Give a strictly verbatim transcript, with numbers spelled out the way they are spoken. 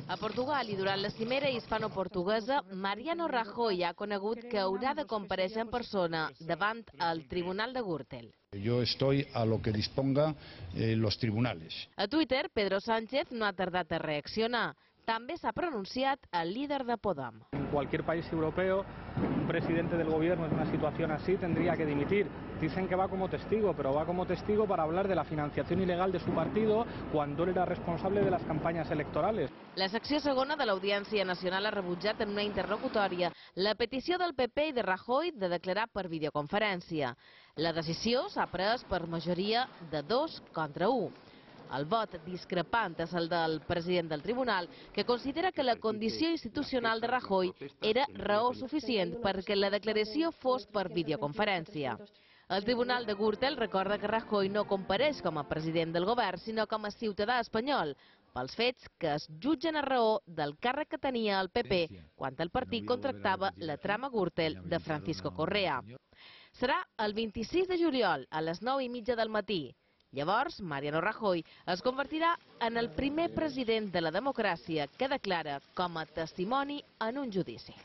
A Portugal i durant la cimera hispano-portuguesa, Mariano Rajoy ha conegut que haurà de comparèixer en persona davant el Tribunal de Gürtel. Yo estoy a lo que disponga eh, los tribunales. A Twitter, Pedro Sánchez no ha tardat a reaccionar. També s'ha pronunciat el líder de Podem. En cualquier país europeo, un presidente del gobierno en una situación así tendría que dimitir. Dicen que va como testigo, pero va como testigo para hablar de la financiación ilegal de su partido cuando él era responsable de las campañas electorales. La secció segona de l'Audiència Nacional ha rebutjat en una interlocutòria la petició del P P i de Rajoy de declarar per videoconferència. La decisió s'ha pres per majoria de dos contra u. El vot discrepant és el del president del tribunal, que considera que la condició institucional de Rajoy era raó suficient perquè la declaració fos per videoconferència. El tribunal de Gürtel recorda que Rajoy no compareix com a president del govern, sinó com a ciutadà espanyol, pels fets que es jutgen a raó del càrrec que tenia el P P quan el partit contractava la trama Gürtel de Francisco Correa. Serà el vint-i-sis de juliol a les nou i mitja del matí. Llavors, Mariano Rajoy es convertirà en el primer president de la democràcia que declara com a testimoni en un judici.